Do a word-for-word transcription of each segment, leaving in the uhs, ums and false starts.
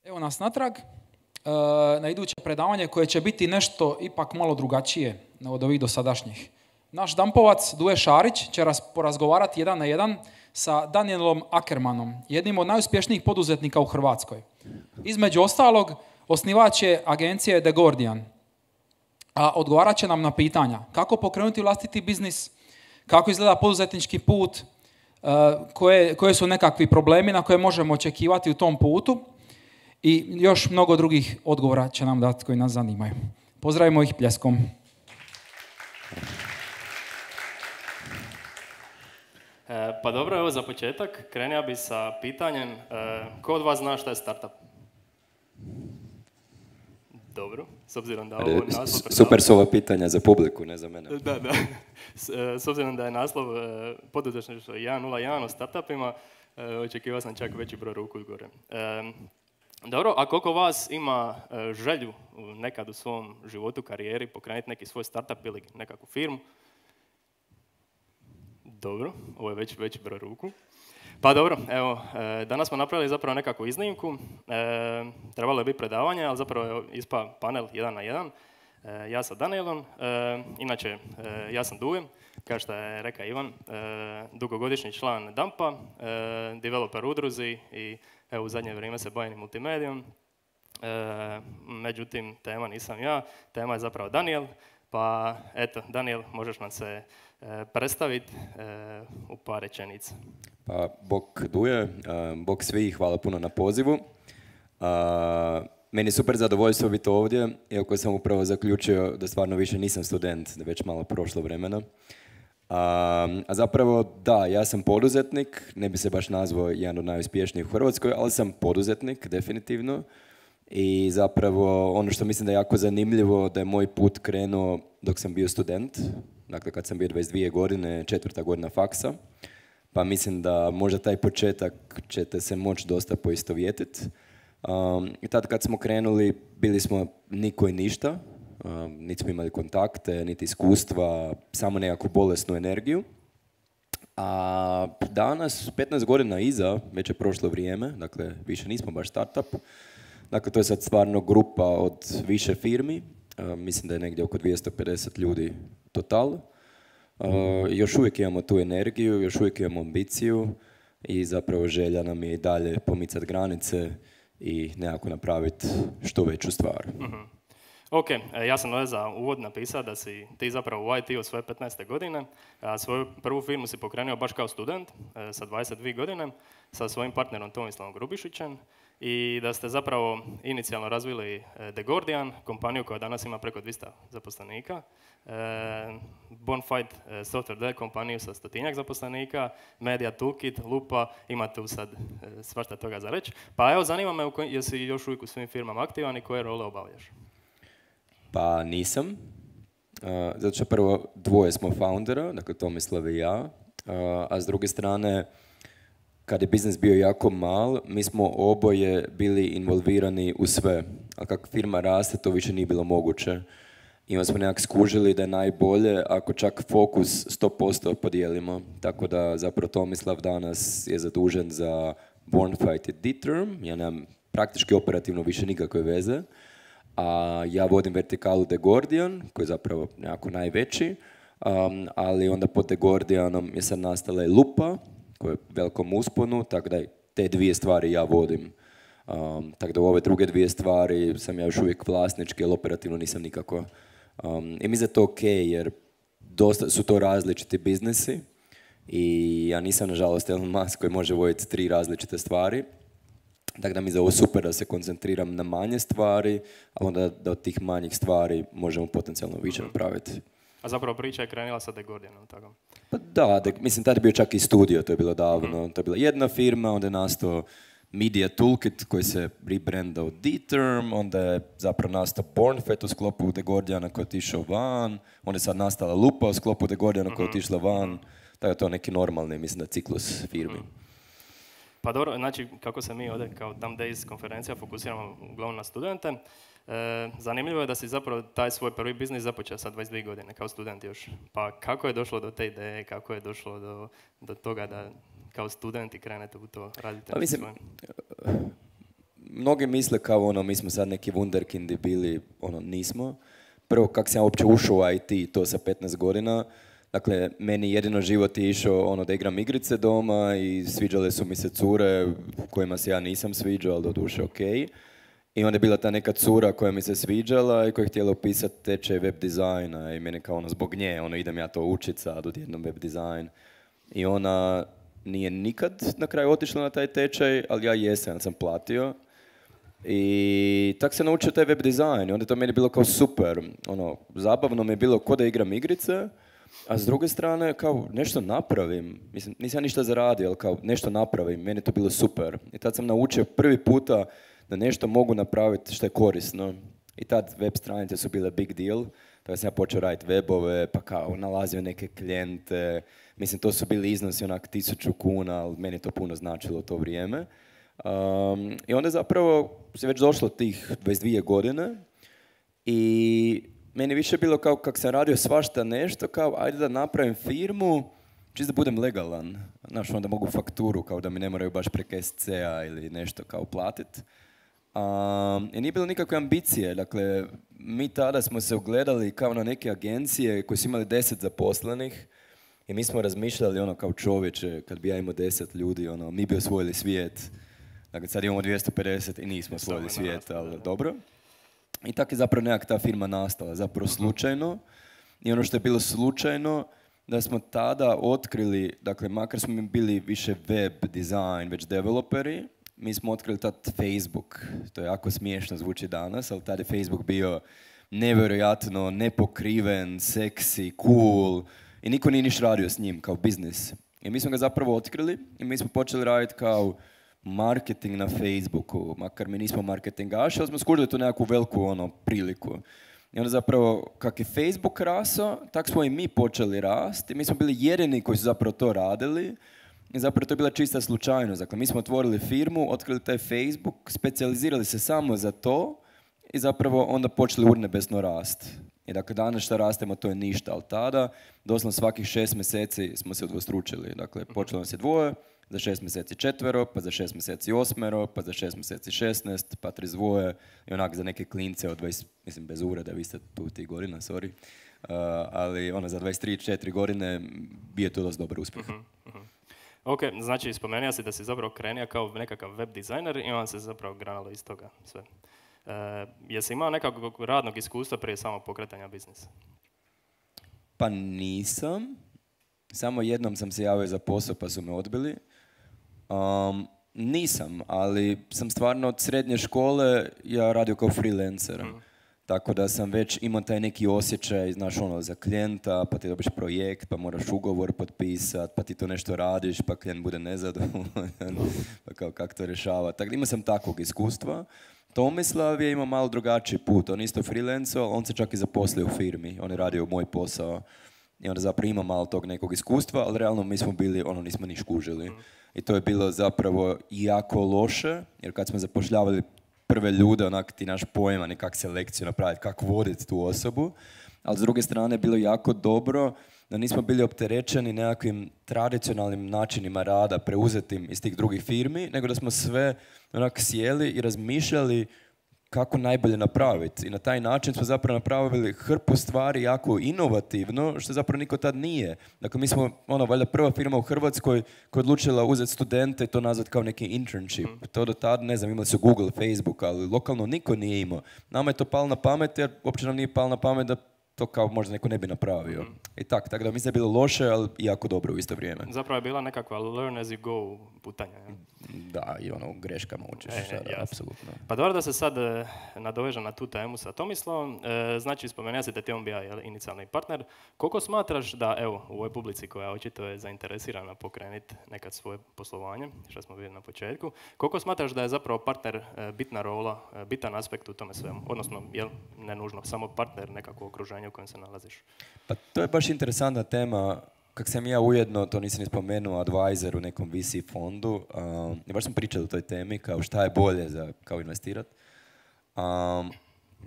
Evo nas natrag na iduće predavanje koje će biti nešto ipak malo drugačije od ovih dosadašnjih. Naš dampovac Duje Šarić će porazgovarati jedan na jedan sa Danielom Ackermanom, jednim od najuspješnijih poduzetnika u Hrvatskoj. Između ostalog, osnivač je agencije The Gordian, a odgovarat će nam na pitanja kako pokrenuti vlastiti biznis, kako izgleda poduzetnički put, koje, koje su nekakvi problemi na koje možemo očekivati u tom putu i još mnogo drugih odgovora će nam dati koji nas zanimaju. Pozdravimo ih pljeskom. E, pa dobro, evo za početak krenija bi sa pitanjem e, ko od vas zna šta je startup? Dobro, s obzirom da ovo je naslov... Super su ova pitanja za publiku, ne za mene. Da, da. S, s obzirom da je naslov e, poduzetništvo jedan nula jedan o startupima, e, očekivao sam čak veći broj ruku gore. E, dobro, a koliko vas ima e, želju nekad u svom životu, karijeri, pokrenuti neki svoj startup ili nekakvu firmu? Dobro, ovo je već veći broj ruku. Pa dobro, evo, e, danas smo napravili zapravo nekakvu iznimku. E, trebalo je biti predavanje, ali zapravo je ispa panel jedan na jedan. E, ja sa Danielom, e, inače e, ja sam Duje, kao što je rekao Ivan, e, dugogodišnji član Dampa, e, developer udruzi i evo, u zadnje vrijeme se bavim multimedijom. E, međutim, tema nisam ja, tema je zapravo Daniel. Pa eto, Daniel, možeš nam se e, predstaviti e, u par rečenica. Pa, bok Duje, bok svi, hvala puno na pozivu. A, meni je super zadovoljstvo biti ovdje, iako sam upravo zaključio da stvarno više nisam student, da već malo prošlo vremena. A, a zapravo, da, ja sam poduzetnik, ne bi se baš nazvao jedan od najuspješnijih u Hrvatskoj, ali sam poduzetnik, definitivno. I zapravo ono što mislim da je jako zanimljivo da je moj put krenuo dok sam bio student, dakle kad sam bio dvadeset dvije godine, četvrta godina faksa, pa mislim da možda taj početak ćete se moći dosta poistovjetiti. Um, I tad kad smo krenuli bili smo niko i ništa, um, niti smo imali kontakte, niti iskustva, samo nekakvu bolesnu energiju. A danas, petnaest godina iza, već je prošlo vrijeme, dakle više nismo baš startup. Dakle, to je sad stvarno grupa od više firmi, uh, mislim da je negdje oko dvjesto pedeset ljudi total. Uh, još uvijek imamo tu energiju, još uvijek imamo ambiciju i zapravo želja nam je i dalje pomicati granice i nekako napraviti što veću stvar. Mm-hmm. Ok, ja sam ovdje za uvod napisao da si ti zapravo u I T-u svoje petnaeste godine, a svoju prvu firmu si pokrenuo baš kao student sa dvadeset dvije godine sa svojim partnerom Tomislavom Grubišićem i da ste zapravo inicijalno razvili The Gordian, kompaniju koja danas ima preko dvjesto zaposlenika, Bonfide Software D, kompaniju sa stotinjak zaposlenika, Media Toolkit, Lupa, ima tu sad svašta toga za reći. Pa evo, zanima me jesi još uvijek u svim firmama aktivan i koje role obavljaš? Pa nisam, uh, zato što prvo dvoje smo foundera, dakle Tomislav i ja, uh, a s druge strane, kad je biznis bio jako mal, mi smo oboje bili involvirani u sve, a kako firma raste, to više nije bilo moguće. I onda smo nekak skužili da je najbolje ako čak fokus sto posto podijelimo, tako da zapravo Tomislav danas je zadužen za Bonfide i D-Term, ja nemam praktički operativno više nikakve veze. A ja vodim vertikalu The Gordian, koji je zapravo nekako najveći, um, ali onda pod The Gordianom je sad nastala i Lupa, koja je u velikom usponu, tako da te dvije stvari ja vodim. Um, tako da u ove druge dvije stvari sam ja još uvijek vlasnički, ali operativno nisam nikako. Um, I mi za to ok, jer dosta su to različiti biznesi i ja nisam nažalost Elon Musk koji može voditi tri različite stvari. Tako da mi je za ovo super da se koncentriram na manje stvari, a onda da od tih manjih stvari možemo potencijalno više mm-hmm. napraviti. A zapravo priča je krenila sa The Gordianom, tako? Pa da, de, mislim, tada je bio čak i studio, to je bilo davno. Mm-hmm. To je bila jedna firma, onda je nastao Media Toolkit koji se rebrandao D-Term, onda je zapravo nastao Bonfide u sklopu The Gordiana koji je otišao van, onda je sad nastala Lupa u sklopu The Gordiana mm-hmm. koja je otišla van, mm-hmm. tako je to neki normalni, mislim da ciklus firmi. Mm-hmm. Pa dobro, znači kako se mi ovdje kao Dumb Days konferencija fokusiramo uglavnom na studente, e, zanimljivo je da si zapravo taj svoj prvi biznis započeo sa dvadeset dvije godine kao student još. Pa kako je došlo do te ideje, kako je došlo do, do toga da kao studenti krenete u to raditi? Pa mislim, mnogi misle kao ono, mi smo sad neki wunderkindi bili, ono, nismo. Prvo, kak sam ja uopće ušao u I T, to sa petnaest godina. Dakle, meni jedino život je išao ono da igram igrice doma i sviđale su mi se cure kojima se ja nisam sviđao, ali doduše ok. I onda je bila ta neka cura koja mi se sviđala i koja je htjela upisati tečaj web dizajna i meni kao ono zbog nje, ono idem ja to učit sad odjednom web dizajn. I ona nije nikad na kraju otišla na taj tečaj, ali ja jesam, sam platio. I tak se naučio taj web dizajn i onda je to meni bilo kao super. Ono, zabavno mi je bilo ko da igram igrice, a s druge strane kao nešto napravim. Mislim, nisam ja ništa zaradio, ali kao nešto napravim. Meni je to bilo super. I tad sam naučio prvi puta da nešto mogu napraviti što je korisno. I tad web stranice su bile big deal. Tako sam ja počeo raditi webove, pa kao nalazio neke klijente. Mislim, to su bili iznosi onak tisuću kuna, ali meni je to puno značilo u to vrijeme. Um, I onda zapravo se već došlo tih dvadeset dvije godine i meni više bilo kao kak sam radio svašta nešto, kao ajde da napravim firmu, čisto da budem legalan. Znaš, onda mogu fakturu, kao da mi ne moraju baš preko S C-a ili nešto kao platit. Um, I nije bilo nikakve ambicije, dakle, mi tada smo se ugledali kao na neke agencije koje su imali deset zaposlenih i mi smo razmišljali ono kao čovječe, kad bi ja imao deset ljudi, ono, mi bi osvojili svijet. Dakle, sad imamo dvjesto pedeset i nismo osvojili svijet, ali dobro. I tako je zapravo nekak ta firma nastala, zapravo slučajno. I ono što je bilo slučajno, da smo tada otkrili, dakle, makar smo mi bili više web design, već developeri, mi smo otkrili tad Facebook. To je jako smiješno zvuči danas, ali tad je Facebook bio nevjerojatno nepokriven, seksi, cool i niko nije niš radio s njim kao biznis. I mi smo ga zapravo otkrili i mi smo počeli raditi kao marketing na Facebooku, makar mi nismo marketingaši, ali smo skužili tu nekakvu veliku ono, priliku. I onda zapravo, kak je Facebook rasao, tak smo i mi počeli rasti. Mi smo bili jedini koji su zapravo to radili. I zapravo to je bila čista slučajnost. Dakle, mi smo otvorili firmu, otkrili taj Facebook, specijalizirali se samo za to i zapravo onda počeli urnebesno rast. I dakle, danas što rastemo, to je ništa, ali tada, doslovno svakih šest mjeseci smo se udvostručili. Dakle, počelo nas je dvoje, za šest mjeseci četvero, pa za šest mjeseci osmero, pa za šest mjeseci šesnaest, pa trideset dvoje i onak za neke klince od dvadeset, mislim bez ureda, vi ste tu tih godina, sorry, uh, ali ono za dvadeset tri četiri godine bio je to dosta dobar uspjeh. Uh-huh, uh-huh. Ok, znači spomenuo si da si zapravo krenio kao nekakav web dizajner i on se zapravo granalo iz toga sve. Uh, jesi imao nekakvog radnog iskustva prije samog pokretanja biznisa? Pa nisam. Samo jednom sam se javio za posao pa su me odbili. Um, nisam, ali sam stvarno od srednje škole ja radio kao freelancer. Mm. Tako da sam već imao taj neki osjećaj, znaš, ono, za klijenta, pa ti dobiš projekt, pa moraš ugovor potpisati, pa ti to nešto radiš, pa klijent bude nezadovoljan, pa kao kako to rješava. Tako da imao sam takvog iskustva. Tomislav je imao malo drugačiji put. On isto freelancao, on se čak i zaposlio u firmi. On je radio moj posao. I onda zapravo ima malo tog nekog iskustva, ali realno mi smo bili, ono, nismo ni škužili. I to je bilo zapravo jako loše, jer kad smo zapošljavali prve ljude, onak ti naš pojma, ni kak selekciju napraviti, kako voditi tu osobu. Ali s druge strane je bilo jako dobro da nismo bili opterećeni nekakvim tradicionalnim načinima rada preuzetim iz tih drugih firmi, nego da smo sve onak sjeli i razmišljali kako najbolje napraviti. I na taj način smo zapravo napravili hrpu stvari jako inovativno, što zapravo niko tad nije. Dakle, mi smo, ono, valjda prva firma u Hrvatskoj koja je odlučila uzeti studente i to nazvati kao neki internship. Mm. To do tad, ne znam, imali su Google, Facebook, ali lokalno niko nije imao. Nama je to palo na pamet, jer uopće nam nije palo na pamet da to kao možda neko ne bi napravio. Mm. I tak, tako da mislim da je bilo loše, ali jako dobro u isto vrijeme. Zapravo je bila nekakva learn as you go putanja. Ja? Da, i ono, greškama učiš, e, da, apsolutno. Pa dobro da se sad e, nadovežem na tu temu sa Tomislavom. E, znači, spomenuo si da ti on bio inicijalni partner. Koliko smatraš da, evo, u ovoj publici koja očito je zainteresirana pokrenuti nekad svoje poslovanje, što smo vidjeli na početku, koliko smatraš da je zapravo partner e, bitna rola, e, bitan aspekt u tome svemu? Odnosno, jel ne nužno samo partner, nekakvo okruženje u kojem se nalaziš? Pa to je baš interesantna tema. Kak sam ja ujedno, to nisam ni spomenuo, advisor u nekom V C fondu, um, i baš smo pričali o toj temi, kao šta je bolje za kao investirati. Um,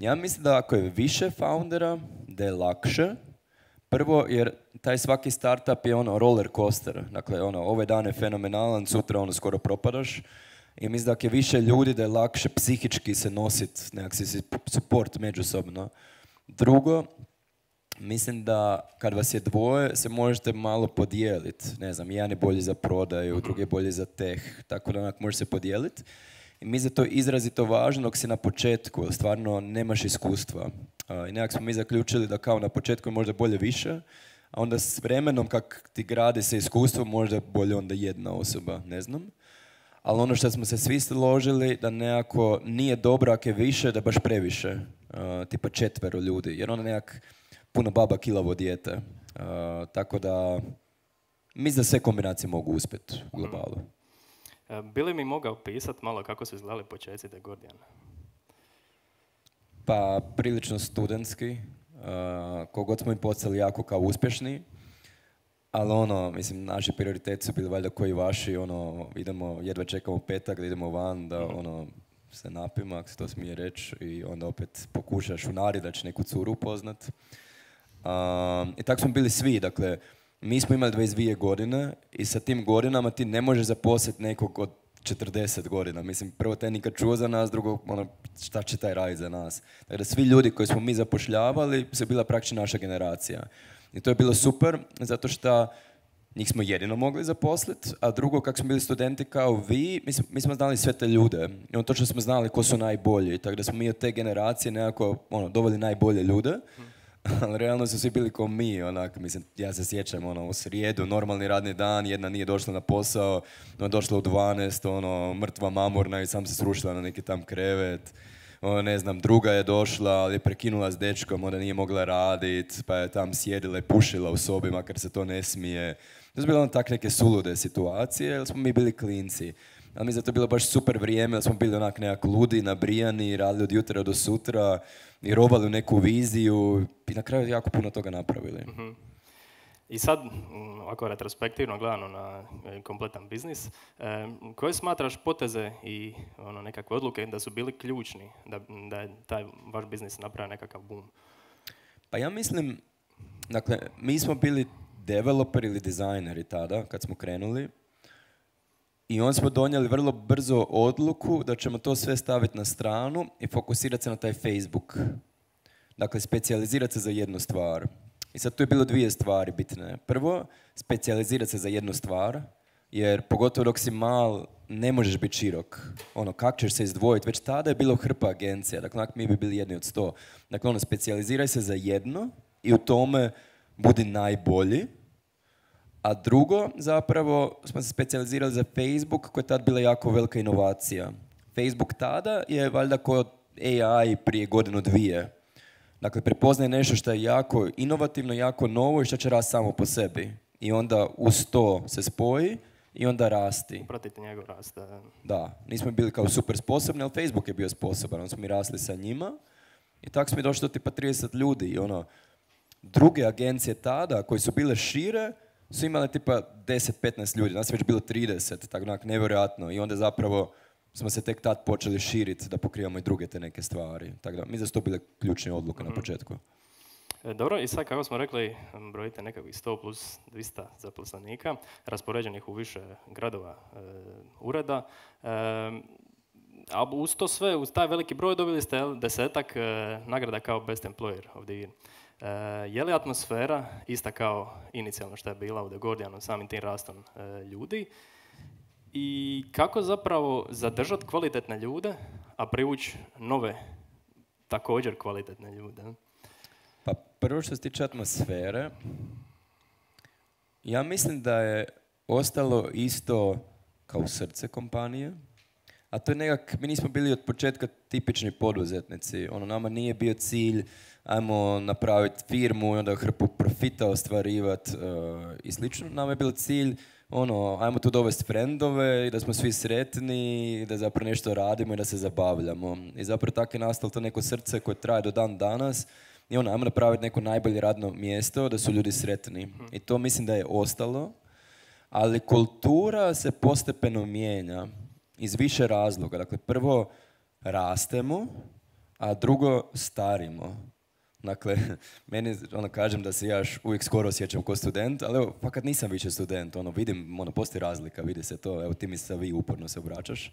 ja mislim da ako je više foundera, da je lakše. Prvo, jer taj svaki startup je ono roller coaster. Dakle, ono, ove dane je fenomenalan, sutra ono skoro propadaš. I mislim da ako je više ljudi da je lakše psihički se nositi, nekak si support međusobno. Drugo, mislim da kad vas je dvoje se možete malo podijeliti. Ne znam, jedan je bolji za prodaju, drugi je bolji za teh, tako da onak može se podijeliti. I mislim da to je izrazito važno dok si na početku, jer stvarno nemaš iskustva. Uh, I nekak smo mi zaključili da kao na početku je možda bolje više, a onda s vremenom kak ti gradi se iskustvo, možda bolje onda jedna osoba, ne znam. Ali ono što smo se svi složili, da nekako nije dobro ako je više, da baš previše. Uh, tipa četvero ljudi, jer onda nekak puno baba kilavo dijete. Uh, tako da, mislim da sve kombinacije mogu uspjeti u globalu. Bi li mi mogao pisati malo kako su izgledali početci The Gordiana? Pa, prilično studentski. Uh, kogod smo im postali jako kao uspješni. Ali ono, mislim, naši prioriteti su bili valjda koji vaši, ono, idemo, jedva čekamo petak da idemo van, da ono, se napimo, ako se to smije reći, i onda opet pokušaš u nari da će neku curu upoznat. Um, I tako smo bili svi, dakle, mi smo imali dvadeset dvije godine i sa tim godinama ti ne možeš zaposliti nekog od četrdeset godina. Mislim, prvo te nikad čuo za nas, drugo, ono, šta će taj raditi za nas. Dakle, svi ljudi koji smo mi zapošljavali su bila praktično naša generacija. I to je bilo super, zato što njih smo jedino mogli zaposliti, a drugo, kako smo bili studenti kao vi, mi smo, mi smo znali sve te ljude. I on točno smo znali ko su najbolji, tako da smo mi od te generacije nekako ono, doveli najbolje ljude. Ali realno su svi bili kao mi, onak, mislim, ja se sjećam, ono, u srijedu, normalni radni dan, jedna nije došla na posao, ona došla u dvanaest, ono, mrtva mamurna i sam se srušila na neki tam krevet. Ono, ne znam, druga je došla, ali je prekinula s dečkom, onda nije mogla radit, pa je tam sjedila i pušila u sobi, makar se to ne smije. To su bile ono tak neke sulude situacije, jer smo mi bili klinci. Ali mi za to bilo baš super vrijeme, jer smo bili onak nekak ludi, nabrijani, radili od jutra do sutra i robali u neku viziju i na kraju jako puno toga napravili. Mm-hmm. I sad, ovako retrospektivno gledano na kompletan biznis, eh, koje smatraš poteze i ono, nekakve odluke da su bili ključni da, da je taj vaš biznis napravio nekakav boom? Pa ja mislim, dakle, mi smo bili developeri ili dizajneri tada, kad smo krenuli, i onda smo donijeli vrlo brzo odluku da ćemo to sve staviti na stranu i fokusirati se na taj Facebook. Dakle, specijalizirati se za jednu stvar. I sad tu je bilo dvije stvari bitne. Prvo, specijalizirati se za jednu stvar, jer pogotovo dok si mal, ne možeš biti širok. Ono, kako ćeš se izdvojiti? Već tada je bilo hrpa agencija, dakle, mi bi bili jedni od sto. Dakle, ono, specijaliziraj se za jedno i u tome budi najbolji. A drugo, zapravo, smo se specijalizirali za Facebook, koja je tad bila jako velika inovacija. Facebook tada je valjda kao A I prije godinu dvije. Dakle, prepoznaje nešto što je jako inovativno, jako novo i što će rasti samo po sebi. I onda uz to se spoji i onda rasti. Pratite njegov rast. Da. Da, nismo bili kao super sposobni, ali Facebook je bio sposoban. Onda smo mi rasli sa njima i tako smo došli do tipa trideset ljudi. I ono, druge agencije tada, koje su bile šire, su imali tipa deset do petnaest ljudi. Nas je već bilo trideset, tako onak nevjerojatno. I onda zapravo smo se tek tad počeli širiti da pokrivamo i druge te neke stvari. Tako da, mi da su to bile ključne odluke mm-hmm. na početku. E, dobro, i sad kako smo rekli, brojite nekakvih sto plus dvista zaposlenika, raspoređenih u više gradova e, ureda. E, a uz to sve, uz taj veliki broj dobili ste desetak e, nagrada kao Best Employer of the Year. E, je li atmosfera ista kao inicijalno što je bila u The Gordianu, samim tim rastom e, ljudi? I kako zapravo zadržati kvalitetne ljude, a privući nove, također kvalitetne ljude? Pa prvo što se tiče atmosfere, ja mislim da je ostalo isto kao srce kompanije, a to je nekak, mi nismo bili od početka tipični poduzetnici. Ono, nama nije bio cilj, ajmo napraviti firmu i onda hrpu profita ostvarivati uh, i slično. Nama je bilo cilj, ono, ajmo tu dovesti frendove i da smo svi sretni, i da zapravo nešto radimo i da se zabavljamo. I zapravo tako je nastalo to neko srce koje traje do dan danas. I ono, ajmo napraviti neko najbolje radno mjesto da su ljudi sretni. I to mislim da je ostalo. Ali kultura se postepeno mijenja iz više razloga. Dakle, prvo rastemo, a drugo starimo. Dakle, meni, ono, kažem da se ja još uvijek skoro osjećam kao student, ali evo, fakat nisam više student, ono, vidim, ono, postoji razlika, vidi se to, evo, ti mi se vi uporno se obraćaš.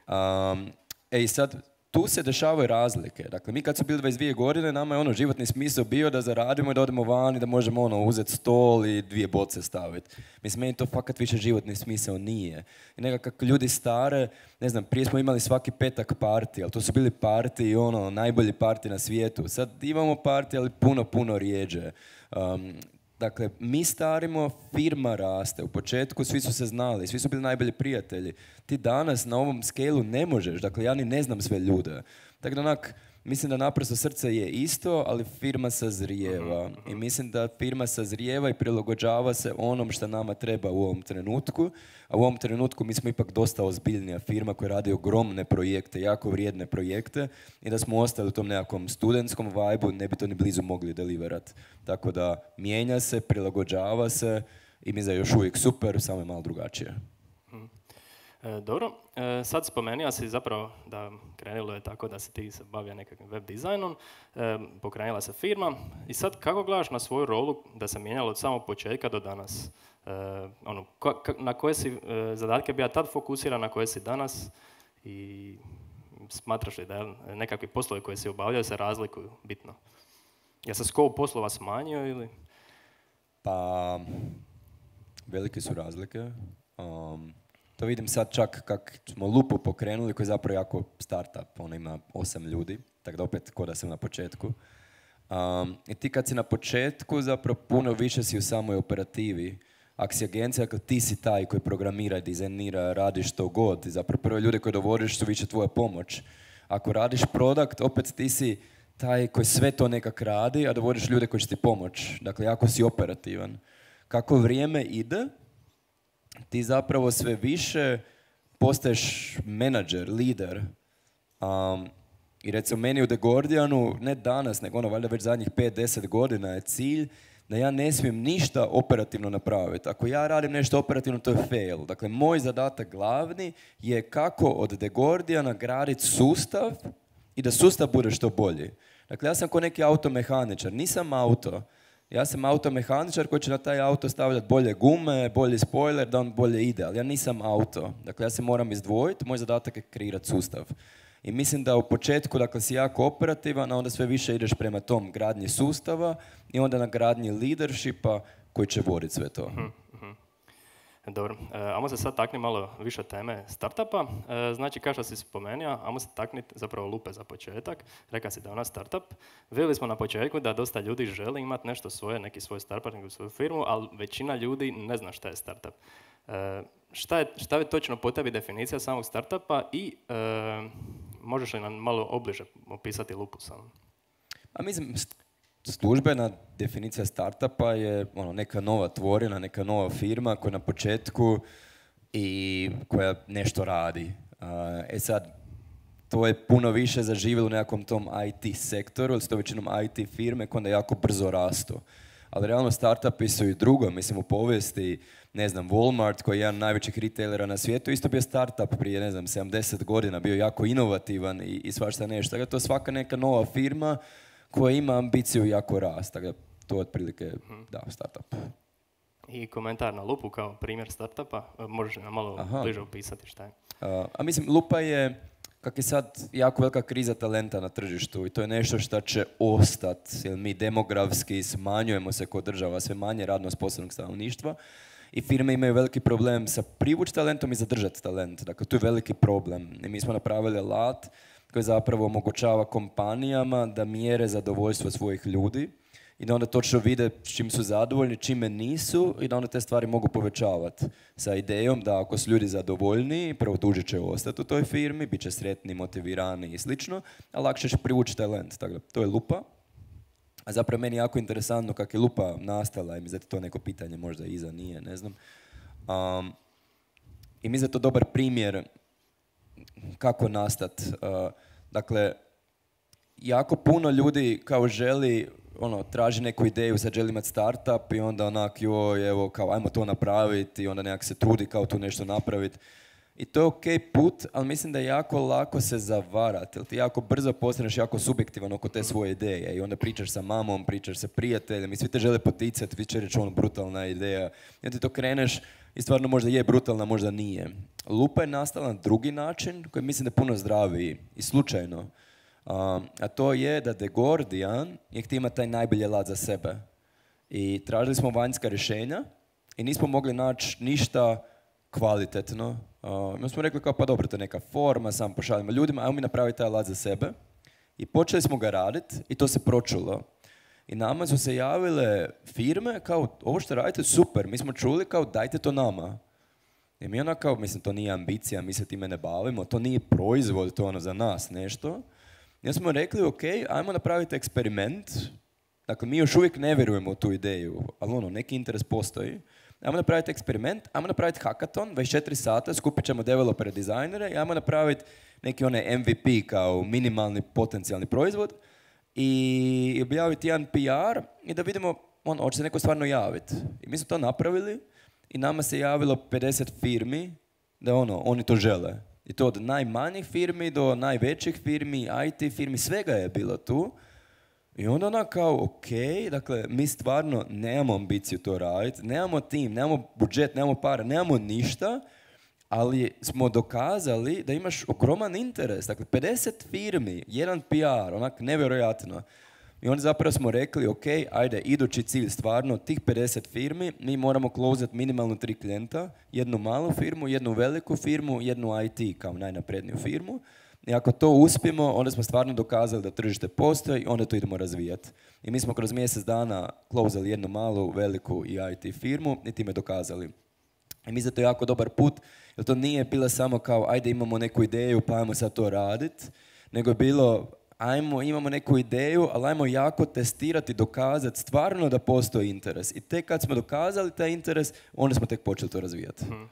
Um, e i sad, tu se dešavaju razlike. Dakle, mi kad su bili dvadeset dvije godine, nama je ono životni smisao bio da zaradimo i da odemo van i da možemo ono uzeti stol i dvije boce staviti. Mislim, meni to fakat više životni smisao nije. I nekako kako ljudi stare, ne znam, prije smo imali svaki petak parti, ali to su bili parti i ono, najbolji parti na svijetu. Sad imamo parti, ali puno, puno rijeđe. Um, Dakle, mi starimo, firma raste. U početku svi su se znali, svi su bili najbolji prijatelji. Ti danas na ovom scale-u ne možeš, dakle ja ni ne znam sve ljude. Tako da onak, mislim da naprosto srce je isto, ali firma sazrijeva. I mislim da firma sazrijeva i prilagođava se onom što nama treba u ovom trenutku. A u ovom trenutku mi smo ipak dosta ozbiljnija firma koja radi ogromne projekte, jako vrijedne projekte i da smo ostali u tom nekakvom studentskom vibe-u ne bi to ni blizu mogli deliverat. Tako da mijenja se, prilagođava se i mi za još uvijek super, samo je malo drugačije. E, dobro, e, sad spomenuo si zapravo da krenulo je tako da se ti se bavio nekakvim web dizajnom, e, pokrenula se firma i sad kako gledaš na svoju rolu da se mijenjalo od samog početka do danas? E, ono, ko, ka, na koje si e, zadatke bio tad fokusiran, na koje si danas i smatraš li da je nekakvi poslovi koje si obavljao se razlikuju bitno? Je se scope poslova smanjio ili? Pa, velike su razlike. Um, To vidim sad čak kak smo Lupu pokrenuli, koji je zapravo jako startup, ona ima osam ljudi, tako da opet ko da sam na početku. Um, I ti kad si na početku, zapravo puno više si u samoj operativi. Ako si agencija, ako ti si taj koji programira, dizajnira, radiš što god, i zapravo prve ljude koje dovodiš su više tvoja pomoć. Ako radiš produkt, opet ti si taj koji sve to nekak radi, a dovodiš ljude koji će ti pomoć. Dakle, jako si operativan. Kako vrijeme ide, ti zapravo sve više postaješ menadžer, lider. Um, I recimo meni u The Guardianu, ne danas, nego ono valjda već zadnjih pet do deset godina je cilj da ja ne smijem ništa operativno napraviti. Ako ja radim nešto operativno, to je fail. Dakle, moj zadatak glavni je kako od The Guardiana graditi sustav i da sustav bude što bolji. Dakle, ja sam ko neki automehaničar, nisam auto. Ja sam automehaničar koji će na taj auto stavljati bolje gume, bolji spoiler, da on bolje ide, ali ja nisam auto. Dakle, ja se moram izdvojiti, moj zadatak je kreirati sustav. I mislim da u početku, dakle, si jako operativan, a onda sve više ideš prema tom gradnji sustava i onda na gradnji leadershipa koji će voditi sve to. Mm-hmm. Dobro, e, ajmo se sad takni malo više teme startupa. E, znači, kao što si spomenuo, ajmo se takniti zapravo Lupe za početak. Rekao si da je ona startup. Vidjeli smo na početku da dosta ljudi želi imati nešto svoje, neki svoj startup, neku svoju firmu, ali većina ljudi ne zna šta je startup. E, šta, je, šta je točno po tebi definicija samog startupa i e, možeš li nam malo obliže opisati Lupu samo? A mislim, službena definicija startupa je ono, neka nova tvorina, neka nova firma koja na početku i koja nešto radi. E sad, to je puno više zaživjelo u nekakvom tom I T sektoru, ili su to većinom I T firme koje onda jako brzo rastu. Ali realno startupi su i drugo, mislim u povijesti, ne znam, Walmart koji je jedan od najvećih retailera na svijetu, isto bio startup prije, ne znam, sedamdeset godina, bio jako inovativan i, i svašta nešto. Tako da to je svaka neka nova firma koja ima ambiciju jako rast. Tako da to je otprilike, da, startup. I komentar na Lupu kao primjer startupa, možeš nam malo Aha. bliže opisati šta je? A, a mislim, Lupa je, kak je sad jako velika kriza talenta na tržištu i to je nešto što će ostati, jer mi demografski smanjujemo se kod država, sve manje radno sposobnog stanovništva i firme imaju veliki problem sa privući talentom i zadržati talent. Dakle, tu je veliki problem. I mi smo napravili alat koji zapravo omogućava kompanijama da mjere zadovoljstvo svojih ljudi i da onda točno vide s čim su zadovoljni, čime nisu i da onda te stvari mogu povećavati sa idejom da ako su ljudi zadovoljni, prvo duže će ostati u toj firmi, bit će sretni, motivirani i slično, a lakše će privući talent. Tako da, to je Lupa. A zapravo meni je jako interesantno kako je Lupa nastala i mi zato to neko pitanje možda iza nije, ne znam. Um, I mi za to dobar primjer kako nastati. Uh, dakle, jako puno ljudi kao želi, ono, traži neku ideju, sad želi imati startup i onda onak, joj, evo, kao, ajmo to napraviti i onda nekak se trudi kao tu nešto napraviti. I to je ok put, ali mislim da je jako lako se zavarati, jer ti jako brzo postaneš jako subjektivan oko te svoje ideje i onda pričaš sa mamom, pričaš sa prijateljem i svi te žele poticati, vi će reći ono brutalna ideja. I onda ti to kreneš i stvarno možda je brutalna, možda nije. Lupa je nastala na drugi način koji mislim da je puno zdraviji i slučajno. Um, a to je da The Gordian je htio imati taj najbolji alat za sebe. I tražili smo vanjska rješenja i nismo mogli naći ništa kvalitetno. Uh, mi smo rekli kao pa dobro, to je neka forma, sam pošaljimo ljudima, ajmo mi napraviti taj alat za sebe. I počeli smo ga raditi i to se pročulo. I nama su se javile firme kao ovo što radite super, mi smo čuli kao dajte to nama. I mi ona kao, mislim to nije ambicija, mi se time ne bavimo, to nije proizvod, to je ono za nas nešto. I smo rekli ok, ajmo napraviti eksperiment. Dakle, mi još uvijek ne vjerujemo u tu ideju, ali ono, neki interes postoji. Ajmo napraviti eksperiment, ajmo napraviti hackathon, dvadeset četiri sata, skupit ćemo developere, dizajnere i ajmo napraviti neki onaj M V P kao minimalni potencijalni proizvod i objaviti jedan P R i da vidimo, ono, hoće se neko stvarno javiti. I mi smo to napravili i nama se javilo pedeset firmi da ono, oni to žele. I to od najmanjih firmi do najvećih firmi, I T firmi, svega je bilo tu. I onda ona kao, ok, dakle, mi stvarno nemamo ambiciju to raditi, nemamo tim, nemamo budžet, nemamo para, nemamo ništa, ali smo dokazali da imaš ogroman interes. Dakle, pedeset firmi, jedan P R, onak nevjerojatno. I onda zapravo smo rekli, ok, ajde, idući cilj stvarno, tih pedeset firmi, mi moramo closati minimalno tri klijenta, jednu malu firmu, jednu veliku firmu, jednu I T kao najnapredniju firmu. I ako to uspijemo, onda smo stvarno dokazali da tržište postoji i onda to idemo razvijati. I mi smo kroz mjesec dana closali jednu malu, veliku i I T firmu i time dokazali. I mislim da to je jako dobar put, jer to nije bilo samo kao ajde imamo neku ideju pa ajmo sad to raditi, nego je bilo ajmo, imamo neku ideju, ali ajmo jako testirati, dokazati stvarno da postoji interes. I tek kad smo dokazali taj interes, onda smo tek počeli to razvijati. Hmm.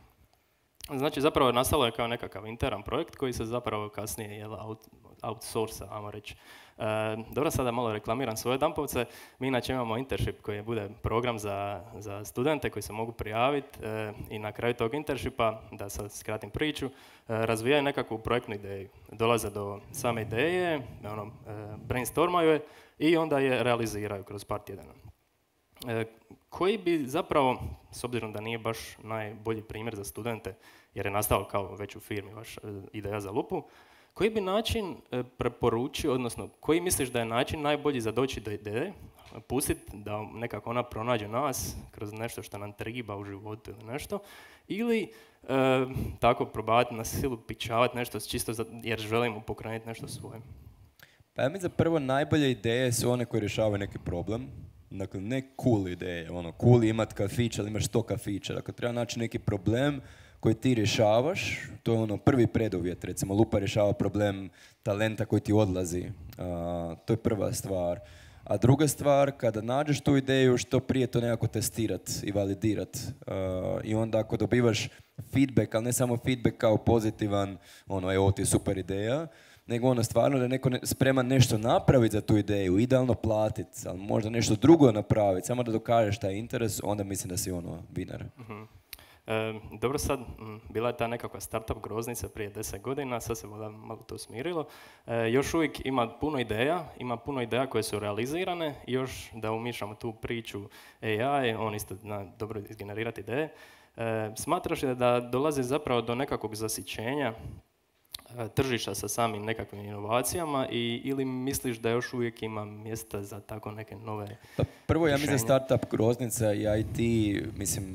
Znači, zapravo nastalo je kao nekakav interan projekt koji se zapravo kasnije jel, out, outsourca, ajmo reći. E, dobro, sada malo reklamiram svoje Dampovce. Mi inače imamo internship koji bude program za, za studente koji se mogu prijaviti e, i na kraju tog internshipa, da sad skratim priču, e, razvijaju nekakvu projektnu ideju. Dolaze do same ideje, ono, e, brainstormaju je i onda je realiziraju kroz par tjedana. E, koji bi zapravo, s obzirom da nije baš najbolji primjer za studente, jer je nastao kao već u firmi vaš e, ideja za lupu, koji bi način e, preporučio, odnosno koji misliš da je način najbolji za doći do ideje, pustiti da nekako ona pronađe nas kroz nešto što nam triba u životu ili nešto, ili e, tako probavati na silu pičavati nešto čisto za, jer želimo pokrenuti nešto svoje? Pa ja mislim da prvo najbolje ideje su one koje rješavaju neki problem. Dakle, ne cool ideje, ono, cool je imat kafić, ali imaš sto kafića. Dakle, treba naći neki problem koji ti rješavaš, to je ono prvi preduvjet, recimo lupa rješava problem talenta koji ti odlazi, uh, to je prva stvar. A druga stvar, kada nađeš tu ideju, što prije to nekako testirat i validirat. Uh, I onda ako dobivaš feedback, ali ne samo feedback kao pozitivan, ono, evo ti je super ideja, nego ono stvarno da je neko spreman nešto napraviti za tu ideju, idealno platiti, ali možda nešto drugo napraviti, samo da dokažeš taj interes, onda mislim da si ono winner. Uh-huh. E, dobro, sad, m, bila je ta nekakva startup groznica prije deset godina, sad se malo, malo to smirilo. E, još uvijek ima puno ideja, ima puno ideja koje su realizirane i još da umišljamo tu priču A I, on isto zna dobro izgenerirati ideje. E, smatraš li da dolazi zapravo do nekakvog zasićenja tržišta sa samim nekakvim inovacijama i, ili misliš da još uvijek ima mjesta za tako neke nove pa prvo, ja mislim rješenja? startup groznica i I T, mislim,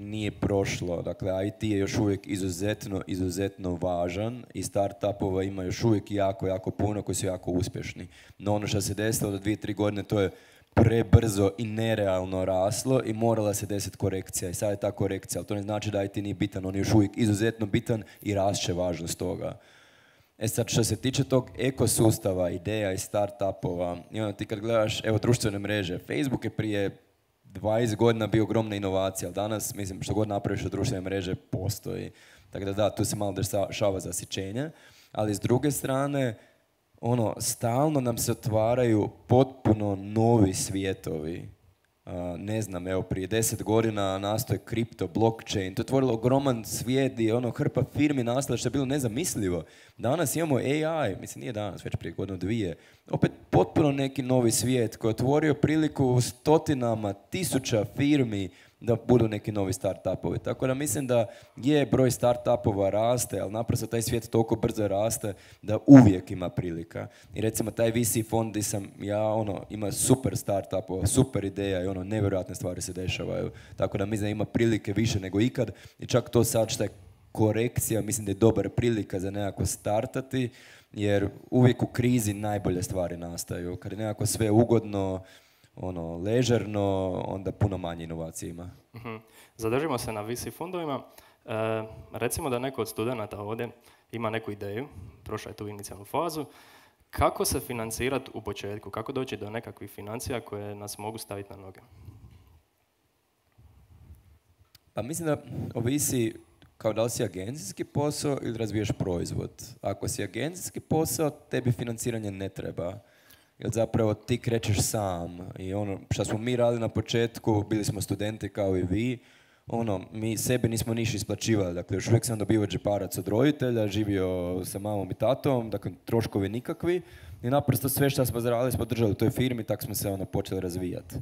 nije prošlo. Dakle, I T je još uvijek izuzetno, izuzetno važan i startupova ima još uvijek jako, jako puno koji su jako uspješni. No ono što se desilo do dvije, tri godine, to je prebrzo i nerealno raslo i morala se desiti korekcija. I sad je ta korekcija, ali to ne znači da I T nije bitan, on je još uvijek izuzetno bitan i rašće važnost toga. E sad, što se tiče tog ekosustava, ideja i startupova, i ono ti kad gledaš, evo, društvene mreže, Facebook je prije dvadeset godina bio ogromna inovacija, ali danas, mislim, što god napraviš od društvene mreže, postoji. Tako da da, tu se malo dešava zasićenje, ali s druge strane, ono, stalno nam se otvaraju potpuno novi svijetovi. ne znam, evo, prije deset godina nastoje kripto, blockchain, to je otvorilo ogroman svijet i ono, hrpa firmi nastala što je bilo nezamislivo. Danas imamo A I, mislim nije danas, već prije godinu dvije, opet potpuno neki novi svijet koji je otvorio priliku stotinama, tisuća firmi da budu neki novi start-upovi. Tako da mislim da je broj start-upova raste, ali naprosto taj svijet toliko brzo raste da uvijek ima prilika. I recimo taj V C fond gdje sam ja, ono, ima super start-upova, super ideja i ono, nevjerojatne stvari se dešavaju. Tako da mislim da ima prilike više nego ikad i čak to sad što je korekcija, mislim da je dobar prilika za nekako startati, jer uvijek u krizi najbolje stvari nastaju. Kad je nekako sve ugodno, ono, ležerno, onda puno manje inovacije ima. Uh-huh. Zadržimo se na V C fondovima. E, recimo da neko od studenata ovdje ima neku ideju, prošla je tu inicijalnu fazu. Kako se financirati u početku? Kako doći do nekakvih financija koje nas mogu staviti na noge? Pa mislim da ovisi kao da li si agencijski posao ili razvijaš proizvod. Ako si agencijski posao, tebi financiranje ne treba. Jer zapravo ti krećeš sam i ono što smo mi radili na početku, bili smo studenti kao i vi, ono, mi sebi nismo niš isplaćivali, dakle još uvijek sam dobio džeparac od roditelja, živio sa mamom i tatom, dakle troškovi nikakvi i naprosto sve što smo zaradili smo držali u toj firmi, tako smo se ono počeli razvijati.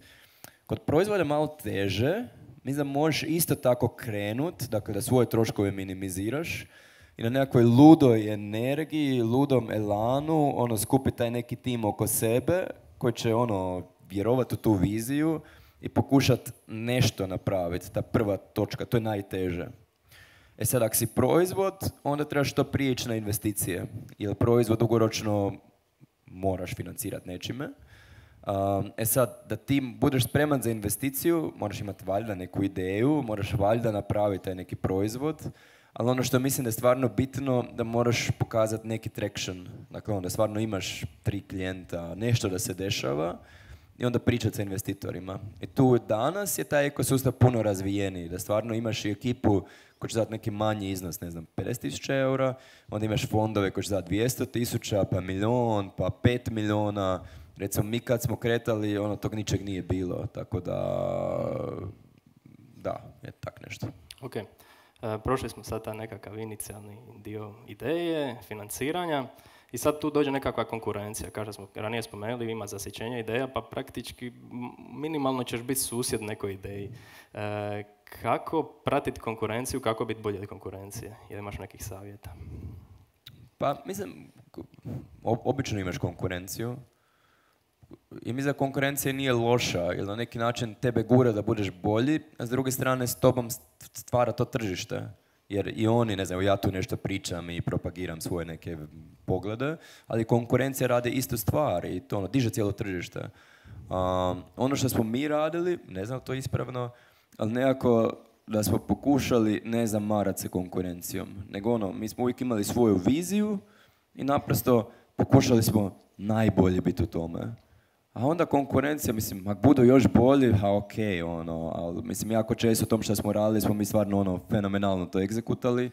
Kod proizvoda malo teže, mislim da možeš isto tako krenut, dakle da svoje troškove minimiziraš, i na nekakvoj ludoj energiji, ludom elanu, ono, skupi taj neki tim oko sebe koji će, ono, vjerovati u tu viziju i pokušati nešto napraviti, ta prva točka, to je najteže. E sad, ako si proizvod, onda trebaš to prije ići na investicije, jer proizvod dugoročno moraš financirati nečime. Um, e sad, da ti budeš spreman za investiciju, moraš imati valjda neku ideju, moraš valjda napraviti taj neki proizvod, ali ono što mislim da je stvarno bitno, da moraš pokazati neki traction. Dakle, onda stvarno imaš tri klijenta, nešto da se dešava i onda pričati sa investitorima. I tu danas je taj ekosustav puno razvijeniji, da stvarno imaš i ekipu koja će dati neki manji iznos, ne znam, pedeset tisuća eura, onda imaš fondove koji će dati dvjesto tisuća, pa milion, pa pet miliona. Recimo, mi kad smo kretali, ono, tog ničeg nije bilo, tako da, da, je tak nešto. Ok. E, prošli smo sad taj nekakav inicijalni dio ideje, financiranja i sad tu dođe nekakva konkurencija. Kao što smo ranije spomenuli, ima zasićenje ideja, pa praktički minimalno ćeš biti susjed nekoj ideji. E, kako pratiti konkurenciju, kako biti bolje od konkurencije? Jel imaš nekih savjeta? Pa, mislim, obično imaš konkurenciju. I mislim da konkurencija nije loša, jer na neki način tebe gura da budeš bolji, a s druge strane s tobom stvara to tržište. Jer i oni, ne znam, ja tu nešto pričam i propagiram svoje neke poglede, ali konkurencija radi istu stvar i to ono, diže cijelo tržište. Um, ono što smo mi radili, ne znam to ispravno, ali nekako da smo pokušali ne zamarati se konkurencijom, nego ono, mi smo uvijek imali svoju viziju i naprosto pokušali smo najbolje biti u tome. A onda konkurencija, mislim, ako budu još bolji, a ok, ono, ali mislim, jako često u tom što smo radili, smo mi stvarno ono, fenomenalno to egzekutali.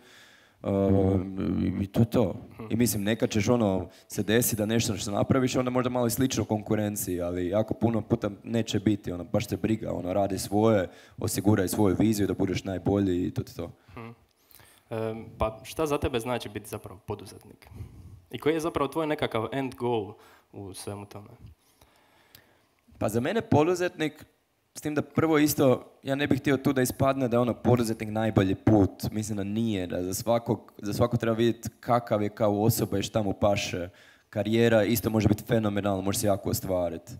Uh, I to je to. I mislim, nekad ćeš ono, se desi da nešto što napraviš, onda možda malo i slično konkurenciji, ali jako puno puta neće biti, ono, baš te briga, ono, radi svoje, osiguraj svoju viziju da budeš najbolji i to je to. Hmm. E, pa šta za tebe znači biti zapravo poduzetnik? I koji je zapravo tvoj nekakav end goal u svemu tome? Pa za mene poduzetnik, s tim da prvo isto, ja ne bih htio tu da ispadne da je ono poduzetnik najbolji put. Mislim da nije, da za svakog, za svakog treba vidjeti kakav je kao osoba i šta mu paše. Karijera isto može biti fenomenalna, može se jako ostvariti.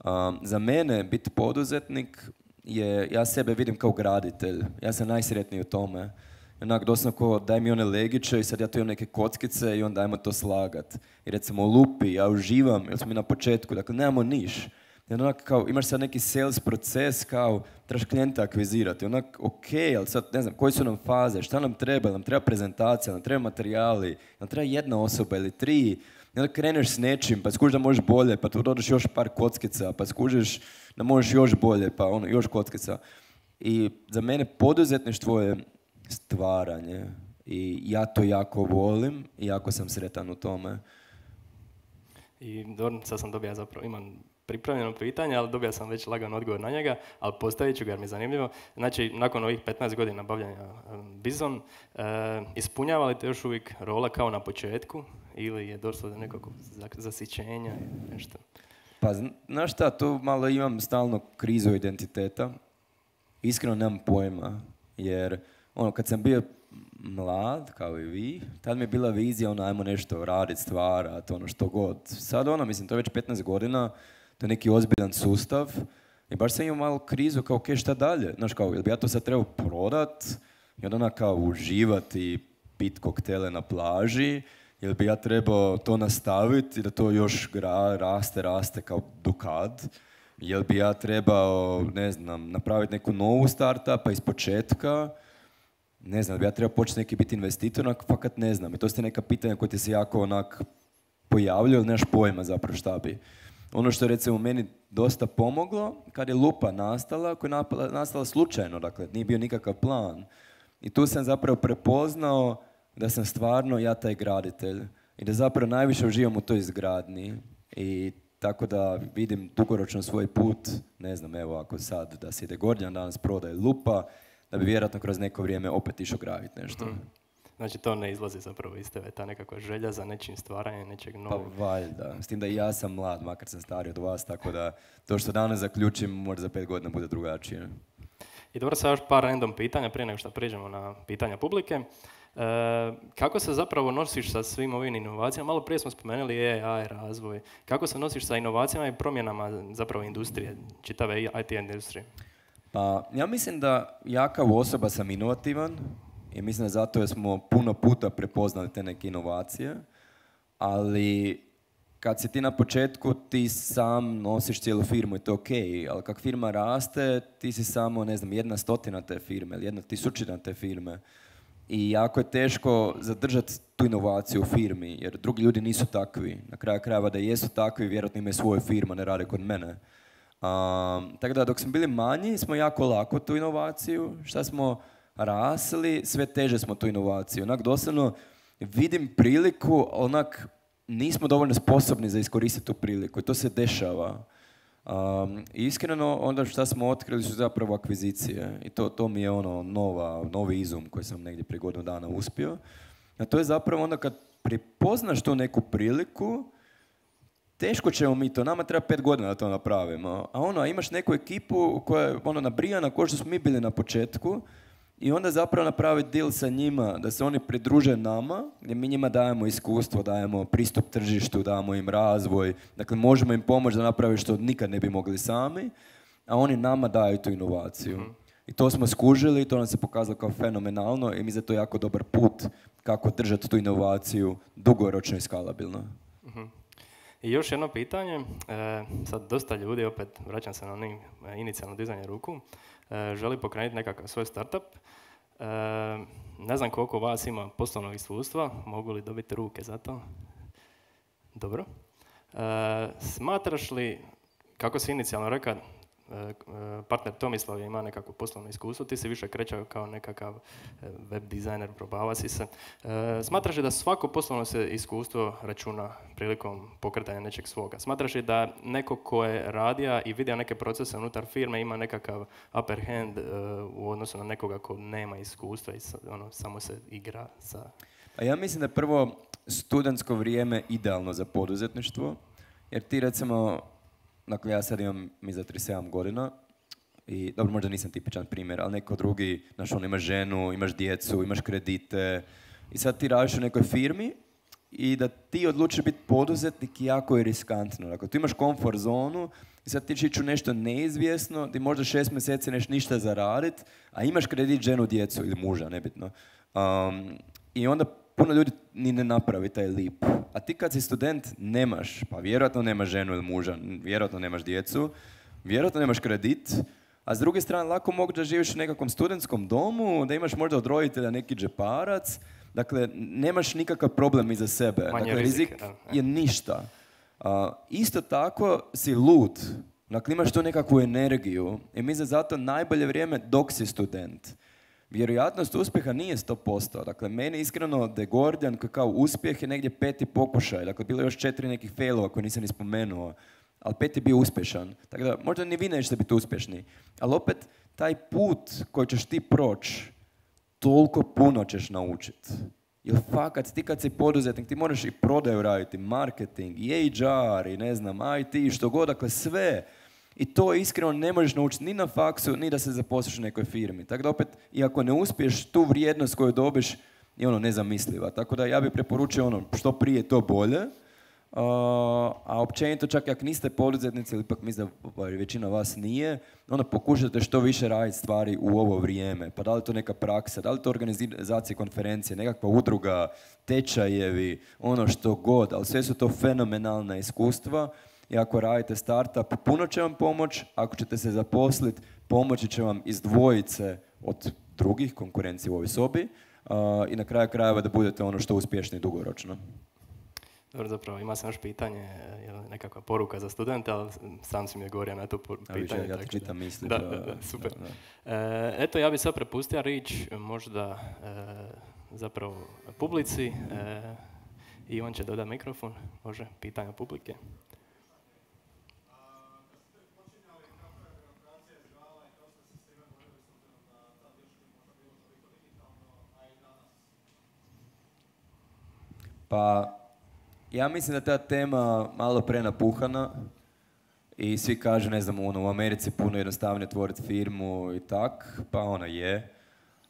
Um, za mene biti poduzetnik je, ja sebe vidim kao graditelj. Ja sam najsretniji u tome. Onak doslovno ko daj mi one legiće i sad ja tu imam neke kockice i onda ajmo to slagat. I recimo u lupi, ja uživam, jer smo mi na početku, dakle nemamo niš. I onak kao, imaš sad neki sales proces, kao, trebaš klijenta akvizirati, onak, ok, ali sad, ne znam, koje su nam faze, šta nam treba, nam treba prezentacija, nam treba materijali, nam treba jedna osoba ili tri, i onda kreneš s nečim, pa skužiš da možeš bolje, pa tu dodaš još par kockica, pa skužiš da možeš još bolje, pa ono, još kockica. I za mene poduzetništvo je stvaranje i ja to jako volim i jako sam sretan u tome. I dobro, sad sam dobio, zapravo imam pripremljeno pitanje, ali dobio sam već lagan odgovor na njega, ali postavit ću ga jer mi je zanimljivo. Znači, nakon ovih petnaest godina bavljanja Bizon, e, ispunjava li te još uvijek rola kao na početku ili je došlo do nekog zasićenja ili nešto? Pa, znaš šta, tu malo imam stalno krizu identiteta. Iskreno nemam pojma, jer ono, kad sam bio mlad, kao i vi, tad mi je bila vizija, ono, ajmo nešto raditi, stvarati, ono, što god. Sad, ono, mislim, to je već petnaest godina, to je neki ozbiljan sustav i baš sam imao malo krizu, kao, ok, šta dalje? Znaš, kao, jel bi ja to sad trebao prodat i onda kao uživati, pit koktele na plaži, jel bi ja trebao to nastaviti i da to još gra, raste, raste kao do kad? Jel bi ja trebao, ne znam, napraviti neku novu startupa iz početka? Ne znam, bi ja trebao početi neki biti investitor, onak, fakat ne znam. I to su neka pitanja koje ti se jako onak pojavljaju, ali nemaš pojma zapravo šta bi. Ono što je recimo meni dosta pomoglo, kad je Lupa nastala, koja je nastala slučajno, dakle, nije bio nikakav plan. I tu sam zapravo prepoznao da sam stvarno ja taj graditelj i da zapravo najviše uživam u toj izgradnji. I tako da vidim dugoročno svoj put, ne znam, evo ako sad da se ide Gordijan danas prodaje Lupa, da bi vjerojatno kroz neko vrijeme opet išao graditi nešto. Mm. Znači to ne izlazi zapravo iz tebe, ta nekakva želja za nečim stvaranjem, nečeg novog. Pa valjda, s tim da i ja sam mlad, makar sam stariji od vas, tako da to što danas zaključim možda za pet godina bude drugačije. I dobro, sad još par random pitanja prije nego što prijeđemo na pitanja publike. E, kako se zapravo nosiš sa svim ovim inovacijama? Malo prije smo spomenuli A I, razvoj. Kako se nosiš sa inovacijama i promjenama zapravo industrije, čitave I T industrije? Pa ja mislim da ja kao osoba sam inovativan i mislim da zato jer smo puno puta prepoznali te neke inovacije, ali kad si ti na početku, ti sam nosiš cijelu firmu i to je okej, ali kak firma raste, ti si samo, ne znam, jedna stotina te firme ili jedna tisućina te firme. I jako je teško zadržati tu inovaciju u firmi, jer drugi ljudi nisu takvi. Na kraju krajeva da jesu takvi, vjerojatno imaju svoju firmu, ne rade kod mene. Um, tako da dok smo bili manji, smo jako lako tu inovaciju. Šta smo rasli, sve teže smo tu inovaciju. Onak doslovno vidim priliku, onak nismo dovoljno sposobni za iskoristiti tu priliku i to se dešava. Um, iskreno, onda šta smo otkrili su zapravo akvizicije i to, to mi je ono nova, novi izum koji sam negdje prije godinu dana uspio. A to je zapravo onda kad prepoznaš tu neku priliku, teško ćemo mi to, nama treba pet godina da to napravimo. A ono, a imaš neku ekipu koja je ono nabrijana kao što smo mi bili na početku i onda zapravo napraviti deal sa njima, da se oni pridruže nama, gdje mi njima dajemo iskustvo, dajemo pristup tržištu, dajemo im razvoj, dakle možemo im pomoći da naprave što nikad ne bi mogli sami, a oni nama daju tu inovaciju. Mm-hmm. I to smo skužili i to nam se pokazalo kao fenomenalno i mi za to jako dobar put kako držati tu inovaciju dugoročno i skalabilno. Mm-hmm. I još jedno pitanje, e, sad dosta ljudi, opet vraćam se na onim inicijalno dizanje ruku, e, želi pokrenuti nekakav svoj startup. E, ne znam koliko vas ima poslovnog iskustva, mogu li dobiti ruke za to? Dobro. E, smatraš li, kako si inicijalno rekao, partner Tomislav ima nekako poslovno iskustvo, ti si više krećao kao nekakav web dizajner, probava si se. Smatraš li da svako poslovno se iskustvo računa prilikom pokretanja nečeg svoga? Smatraš li da neko ko je radija i vidio neke procese unutar firme ima nekakav upper hand u odnosu na nekoga ko nema iskustva i ono, samo se igra sa... A ja mislim da je prvo studentsko vrijeme idealno za poduzetništvo, jer ti recimo, dakle ja sad imam mi za trideset sedam godina i dobro, možda nisam tipičan primjer, ali neko drugi, znaš, on imaš ženu, imaš djecu, imaš kredite i sad ti radiš u nekoj firmi i da ti odlučiš biti poduzetnik jako je riskantno. Dakle, tu imaš komfort zonu i sad ti ćeš ići u nešto neizvjesno, ti možda šest mjeseci neš ništa zaraditi, a imaš kredit, ženu, djecu ili muža, nebitno. Um, I onda puno ljudi ni ne napravi taj lip. A ti kad si student nemaš, pa vjerojatno nemaš ženu ili muža, vjerojatno nemaš djecu, vjerojatno nemaš kredit, a s druge strane lako mogu da živiš u nekakvom studentskom domu, da imaš možda od roditelja neki džeparac, dakle nemaš nikakav problem iza sebe. Manje dakle, rizik, rizik da. je ništa. Uh, isto tako si lud, dakle imaš tu nekakvu energiju i mi za zato najbolje vrijeme dok si student. Vjerojatnost uspjeha nije sto posto. Dakle, meni iskreno The Gordijan kao uspjeh je negdje peti pokušaj. Dakle, bilo je još četiri nekih failova koje nisam ni spomenuo. ali pet je bio uspješan. Tako da možda ni vi nećete biti uspješni, ali opet taj put koji ćeš ti proći, toliko puno ćeš naučiti. Jer fakat, ti kad si poduzetnik, ti moraš i prodaju raditi, marketing, i H R, i ne znam, I T, što god, dakle sve. I to iskreno ne možeš naučiti ni na faksu, ni da se zaposliš u nekoj firmi. Tako da opet, iako ne uspiješ, tu vrijednost koju dobiš je ono nezamisliva. Tako da ja bih preporučio ono, što prije to bolje. Uh, a općenito, čak ako niste poduzetnici, ili ipak mislim da većina vas nije, onda pokušajte što više raditi stvari u ovo vrijeme. Pa da li to neka praksa, da li to organizacija konferencije, nekakva udruga, tečajevi, ono što god, ali sve su to fenomenalna iskustva. I ako radite startup, puno će vam pomoći, ako ćete se zaposliti, pomoći će vam izdvojiti se od drugih konkurencija u ovoj sobi uh, i na kraju krajeva da budete ono što uspješni dugoročno. Dobro, zapravo ima sam još pitanje, nekakva poruka za studente, ali sam si mi je govorio na to pitanje. Ja ti čitam misli. Da, da, da, super. Da, da. E, eto, ja bih sad prepustio riječ možda e, zapravo publici e, i on će dodati mikrofon, može, pitanja publike. Pa, ja mislim da ta tema malo prenapuhana i svi kažu, ne znam, ono, u Americi puno jednostavnije otvoriti firmu i tak, pa ona je.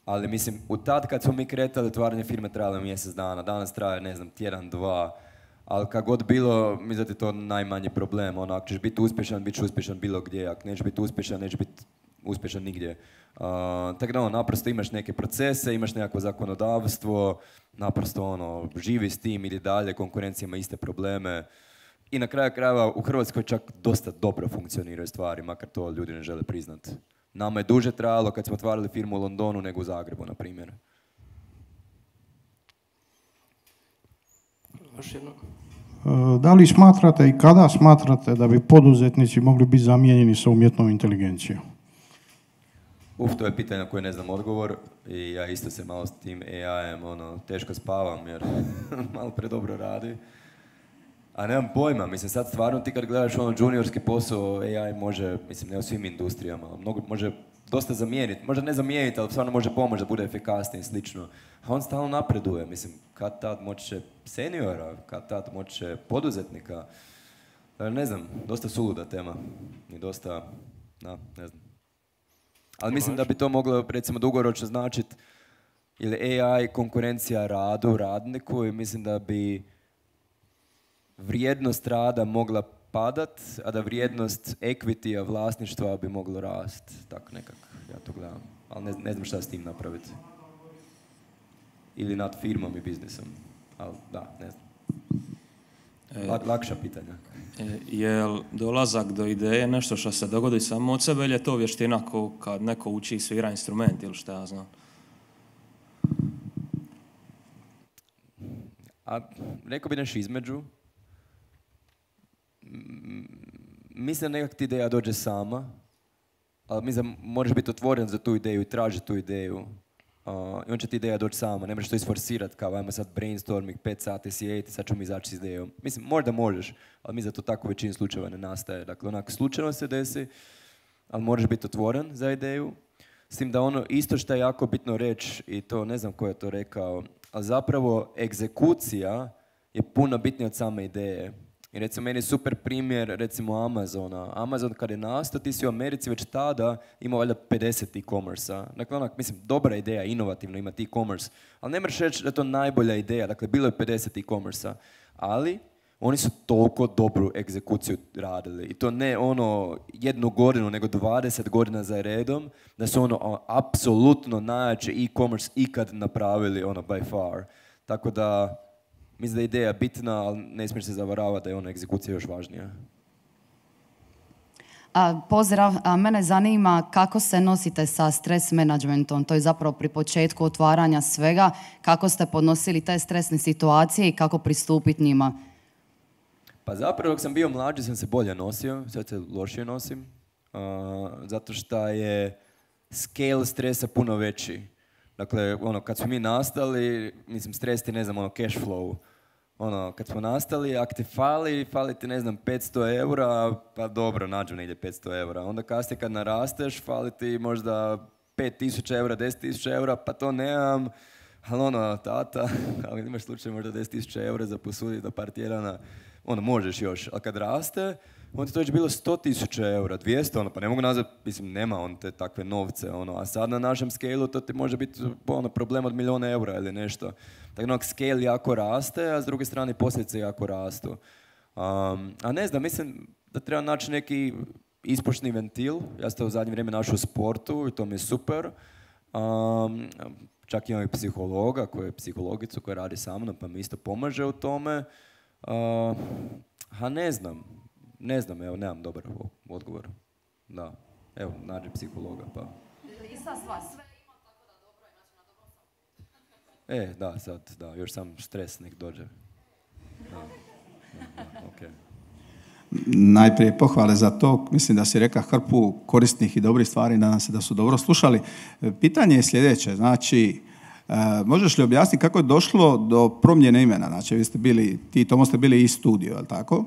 Ali mislim, u tad kad smo mi kretali, otvaranje firme trajalo mjesec dana, danas traje, ne znam, tjedan, dva, ali kad god bilo, mislim da je to najmanji problem. Ono, ako ćeš biti uspješan, bit ćeš uspješan bilo gdje, ako nećeš biti uspješan, nećeš biti uspješan nigdje. Uh, tako da ono, naprosto imaš neke procese, imaš nekako zakonodavstvo, naprosto ono, živi s tim, ili dalje, konkurencija ima iste probleme. I na kraju krajeva u Hrvatskoj čak dosta dobro funkcioniraju stvari, makar to ljudi ne žele priznati. Nama je duže trajalo kad smo otvarali firmu u Londonu nego u Zagrebu, na primjer. Još jedno. Da li smatrate i kada smatrate da bi poduzetnici mogli biti zamijenjeni sa umjetnom inteligencijom? Uf, to je pitanje na koje ne znam odgovor i ja isto se malo s tim A I-em ono, teško spavam jer malo predobro radi. A nemam pojma, mislim sad stvarno ti kad gledaš ono juniorski posao, A I može, mislim ne u svim industrijama, mnogo, može dosta zamijeniti, možda ne zamijeniti, ali stvarno može pomoći da bude efikasniji i slično. A on stalno napreduje, mislim, kad tad moći će seniora, kad tad moći će poduzetnika. Ne znam, dosta suluda tema i dosta, da, ne znam. Ali mislim da bi to moglo, recimo, dugoročno značiti ili A I konkurencija radu, radniku i mislim da bi vrijednost rada mogla padat, a da vrijednost equity-a, vlasništva bi moglo rast. Tako nekako, ja to gledam. Ali ne, ne znam šta s tim napraviti. Ili nad firmom i biznisom. Ali da, ne znam. Lak, lakša pitanja. Je li dolazak do ideje nešto što se dogodi samo od sebe ili je to vještina ko kad neko uči svira instrument ili šta ja znam? A rekao bi nešto između. Mislim da nekak ti ideja dođe sama, ali mislim da moraš biti otvoren za tu ideju i tražiti tu ideju. Uh, I on će ti ideja doći sama, ne možeš to isforsirati kao ajmo sad brainstorming, pet sati sjediti, sad ćemo izaći s idejom. Mislim, možda možeš, ali mislim da to tako u većini slučajeva ne nastaje. Dakle, onak slučajno se desi, ali moraš biti otvoren za ideju. S tim da ono isto što je jako bitno reći, i to ne znam ko je to rekao, ali zapravo egzekucija je puno bitnija od same ideje. I recimo meni je super primjer recimo Amazona. Amazon kad je nastao, ti si u Americi već tada imao valjda pedeset e-commerce-a. Dakle, onak, mislim, dobra ideja, inovativno imati e-commerce, ali ne možeš reći da je to najbolja ideja. Dakle, bilo je pedeset e-commerce-a, ali oni su toliko dobru egzekuciju radili. I to ne ono jednu godinu, nego dvadeset godina za redom, da su ono apsolutno najjači e-commerce ikad napravili, ono, by far. Tako da, mislim da je ideja bitna, ali ne smiješ se zavaravati da je ona egzekucija još važnija. A, pozdrav, a mene zanima kako se nosite sa stres managementom. To je zapravo pri početku otvaranja svega. Kako ste podnosili te stresne situacije i kako pristupiti njima? Pa zapravo dok sam bio mlađi sam se bolje nosio, sad se lošije nosim. Uh, zato što je scale stresa puno veći. Dakle, ono, kad smo mi nastali, mislim, stres ti, ne znam, ono, cash flow. ono, kad smo nastali, ak ti fali, fali ti, ne znam, petsto eura, pa dobro, nađu negdje petsto eura. Onda kasnije kad narasteš, fali ti možda pet tisuća eura, deset tisuća eura, pa to nemam. Ali ono, tata, ali imaš slučaj možda deset tisuća eura za posuditi do par tjedana, ono, možeš još. Ali kad raste, onda to već bilo sto tisuća eura, dvjesto, ono, pa ne mogu nazvat, mislim, nema on te takve novce, ono, a sad na našem scale-u to ti može biti ono, problem od milijuna eura ili nešto. Tako da scale jako raste, a s druge strane posljedice jako rastu. Um, a ne znam, mislim da treba naći neki ispušni ventil. Ja sam to u zadnje vrijeme našao u sportu i to mi je super. Um, čak imam i psihologa, koja je psihologicu koja radi sa mnom, pa mi isto pomaže u tome. Uh, a ne znam, ne znam, evo, nemam dobar odgovor. Da, evo, nađi psihologa, pa... Ista stvar, sve ima tako da dobro je, znači na dobro sam. E, da, sad, da, još sam stres nek dođe. Da, da, da, okej. Najprije pohvale za to. Mislim da si reka hrpu korisnih i dobrih stvari, nadam se da su dobro slušali. Pitanje je sljedeće, znači, e, možeš li objasniti kako je došlo do promjene imena? Znači, vi ste bili, ti i Tomo ste bili i studio, je li tako?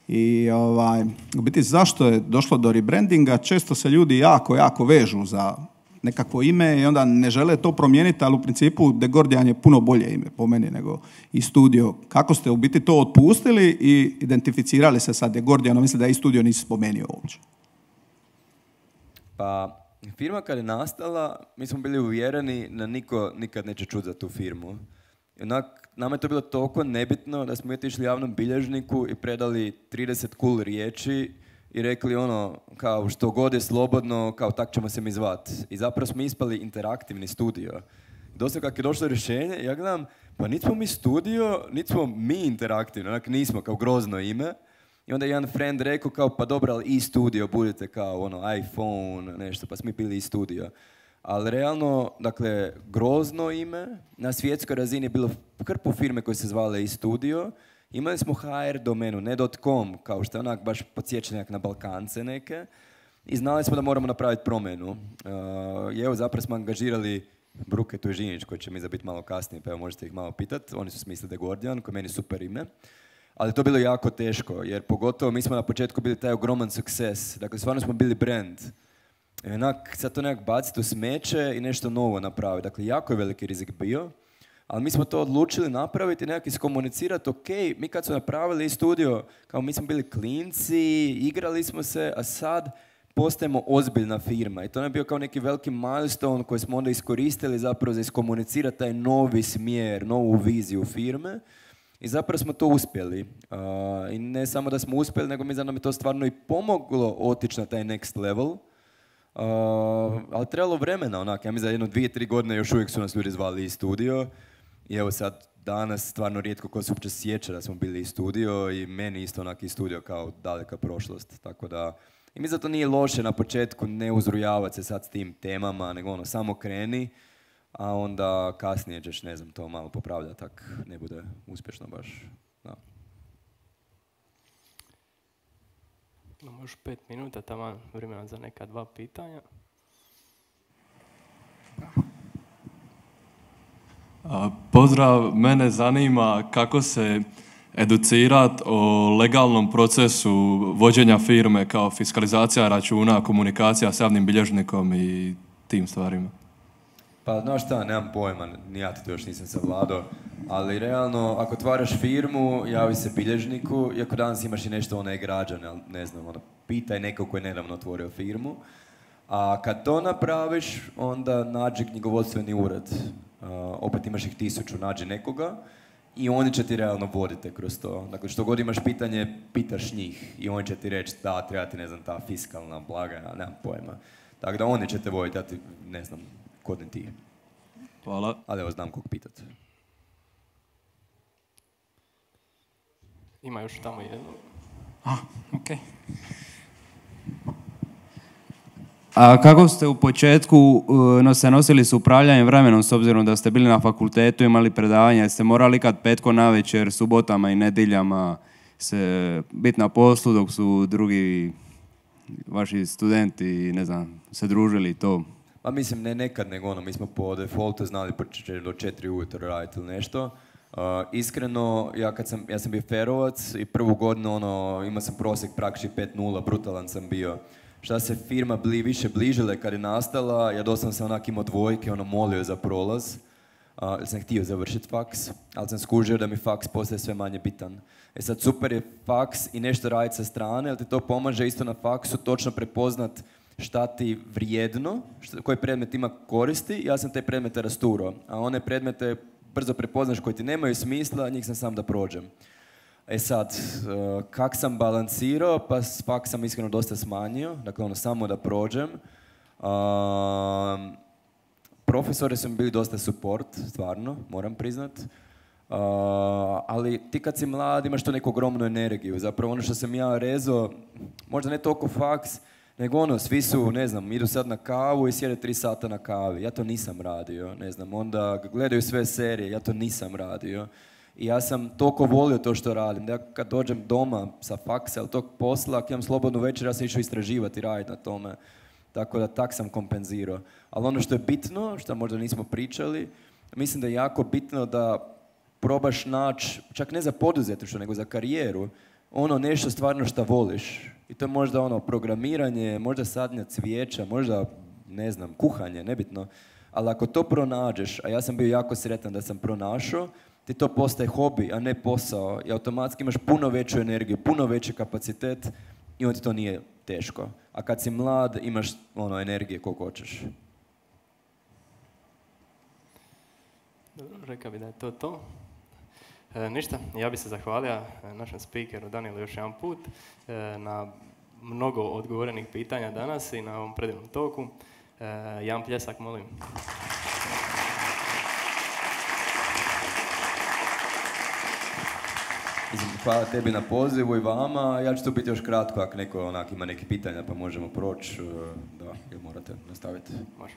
I ovaj, u biti zašto je došlo do rebrandinga? Često se ljudi jako, jako vežu za nekakvo ime i onda ne žele to promijeniti, ali u principu The Gordian je puno bolje ime po meni nego i studio. Kako ste u biti to otpustili i identificirali se sa The Gordianom? Mislim da i studio nisi spomenio uopće. Pa, firma kad je nastala, mi smo bili uvjereni da niko nikad neće čuti za tu firmu. I onak, nama je to bilo toliko nebitno da smo otišli javnom bilježniku i predali trideset cool riječi i rekli ono, kao što god je slobodno, kao tak ćemo se mi zvat. I zapravo smo ispali interaktivni studio. Dosta kako je došlo rješenje, ja gledam, pa niti smo mi studio, niti smo mi interaktivni, onak nismo, kao grozno ime. I onda je jedan friend rekao kao, pa dobro, ali i studio, budete kao ono, iPhone, nešto, pa smo mi bili i studio. Ali realno, dakle, grozno ime, na svjetskoj razini je bilo hrpu firme koje se zvale i studio. Imali smo ha er domenu, ne .com, kao što je onak baš podsjećenjak na Balkance neke. I znali smo da moramo napraviti promjenu. Uh, I evo, zapravo smo angažirali Bruke Tužinić, koji će mi zabiti malo kasnije, pa evo možete ih malo pitati. Oni su smislili The Gordian, koji je meni super ime. Ali to je bilo jako teško, jer pogotovo mi smo na početku bili taj ogroman sukces. Dakle, stvarno smo bili brand. I onak, sad to nekak baciti u smeće i nešto novo napraviti. Dakle, jako je veliki rizik bio. Ali mi smo to odlučili napraviti i nekako iskomunicirati, ok, mi kad smo napravili studio, kao mi smo bili klinci, igrali smo se, a sad postajemo ozbiljna firma. I to je bio kao neki veliki milestone koji smo onda iskoristili zapravo za iskomunicirati taj novi smjer, novu viziju firme. I zapravo smo to uspjeli. Uh, I ne samo da smo uspjeli, nego mi za nam je to stvarno i pomoglo otići na taj next level. Uh, ali trebalo vremena, onak, ja mi za jedno dvije, tri godine još uvijek su nas ljudi zvali i studio. I evo sad, danas stvarno rijetko ko se uopće sjeća da smo bili i studio i meni isto onak i studio kao daleka prošlost. Tako da, i mi zato nije loše na početku ne uzrujavati se sad s tim temama, nego ono, samo kreni, a onda kasnije ćeš, ne znam, to malo popravljati, tak ne bude uspješno baš. Da. Imamo još pet minuta, tamo vremena za neka dva pitanja. Pozdrav, mene zanima kako se educirati o legalnom procesu vođenja firme kao fiskalizacija računa, komunikacija s javnim bilježnikom i tim stvarima. Pa znaš šta, nemam pojma, ni ja to još nisam savladao, ali realno ako otvaraš firmu, javi se bilježniku, iako danas imaš i nešto one građane, ali ne znam, ono, pitaj nekog koji je nedavno otvorio firmu, a kad to napraviš, onda nađi knjigovodstveni ured. Uh, opet imaš ih tisuću, nađi nekoga i oni će ti realno voditi kroz to. Dakle, što god imaš pitanje, pitaš njih i oni će ti reći da, treba ti, ne znam, ta fiskalna blagajna, nemam pojma. Tako da oni će te voditi, ja ti, ne znam, kod ne ti. Hvala. Ali evo, znam kog pitati. Ima još tamo jedno. Ah, okej. Okay. A kako ste u početku uh, se nosili s upravljanjem vremenom, s obzirom da ste bili na fakultetu, imali predavanja, jeste morali kad petko navečer, subotama i nedjeljama se biti na poslu dok su drugi vaši studenti, ne znam, se družili to? Pa mislim, ne nekad, nego ono, mi smo po defaultu znali početi do četiri ujutro raditi ili nešto, Uh, iskreno, ja kad sam, ja sam bio ferovac i prvu godinu ono, imao sam prosjek praktički pet nula, brutalan sam bio. Šta se firma bli, više bližile kad je nastala, ja doslovno sam onak imao dvojke, ono molio za prolaz. Uh, jer sam htio završiti faks, ali sam skužio da mi faks postaje sve manje bitan. E sad super je faks i nešto raditi sa strane, ali ti to pomaže isto na faksu točno prepoznat šta ti vrijedno, šta, koji predmet ima koristi, ja sam te predmete rasturao, a one predmete brzo prepoznaš koji ti nemaju smisla, njih sam sam da prođem. E sad, uh, kak sam balansirao, pa faks sam iskreno dosta smanjio, dakle ono samo da prođem. Uh, profesori su mi bili dosta support, stvarno, moram priznat. Uh, ali ti kad si mlad imaš tu neku ogromnu energiju, zapravo ono što sam ja rezao, možda ne toliko faks, nego ono, svi su, ne znam, idu sad na kavu i sjede tri sata na kavi. Ja to nisam radio, ne znam, onda gledaju sve serije, ja to nisam radio. I ja sam toliko volio to što radim, da ja kad dođem doma sa faksa ili tog posla, ako imam slobodnu večer, ja sam išao istraživati i raditi na tome. Tako da tak sam kompenzirao. Ali ono što je bitno, što možda nismo pričali, mislim da je jako bitno da probaš naći, čak ne za poduzetništvo, nego za karijeru, ono nešto stvarno što voliš. I to je možda ono programiranje, možda sadnja cvijeća, možda, ne znam, kuhanje, nebitno. Ali ako to pronađeš, a ja sam bio jako sretan da sam pronašao, ti to postaje hobi, a ne posao. I automatski imaš puno veću energiju, puno veći kapacitet i onda ti to nije teško. A kad si mlad, imaš ono, energije koliko hoćeš. Dobro, rekao bi da je to to. E, ništa, ja bih se zahvalio našem speakeru Danielu još jedan put e, na mnogo odgovorenih pitanja danas i na ovom predivnom toku. E, jedan pljesak, molim. Hvala tebi na pozivu i vama. Ja ću tu biti još kratko ako neko onak ima neke pitanja pa možemo proći. Da, ili morate nastaviti. Može.